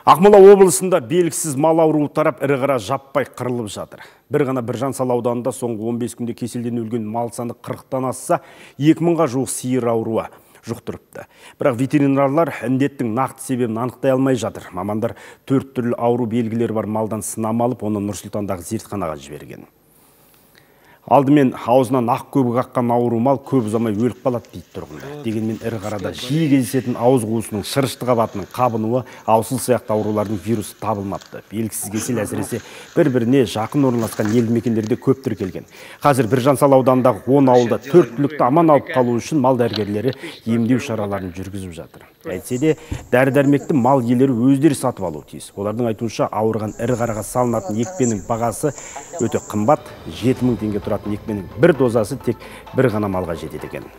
Ақмола облысында белгісіз мал ауруы тарап ірі қара жаппай қырылып жатыр. Бір ғана Біржан-Сал ауданында соңғы 15 күнде кеселден өлген мал саны 40-тан асса, 2000-ға жуық сиыр ауруы жұқтырыпты. Бірақ ветеринарлар індеттің нақты себебін анықтай алмай жатыр. Мамандар 4 түрлі ауру белгілері бар малдан сынама алып, оны Нұр-Сұлтандағы зертханаға жіберген. Алдымен аузынан ақ көбік аққан ауру мал көп ұзамай өліп қалады дейді тұрғындар. Дегенмен ірі қарада жиі кездесетін ауыз қуысының шырышты қабатының қабынуы, аусыл сияқты аурулардың вирусы табылмапты. Белгісіз кесел әсіресе бір-біріне жақын орналасқан елді мекендерде көп тіркелген. Қазір Біржан-Сал ауданындағы 10 ауылда 4 түлікті аман алып қалу үшін мал дәрігерлері емдеу шараларын жүргізіп жатыр. Әйтсе де дәрі-дәрмекті мал иелері өздері сатып алуы тиіс. Олардың айтуынша ауырған ірі қараға салынатын екпенің бағасы өте қымбат, 7000 теңге тұратын екпенің бір дозасы тек бір ғана малға жетеді екен.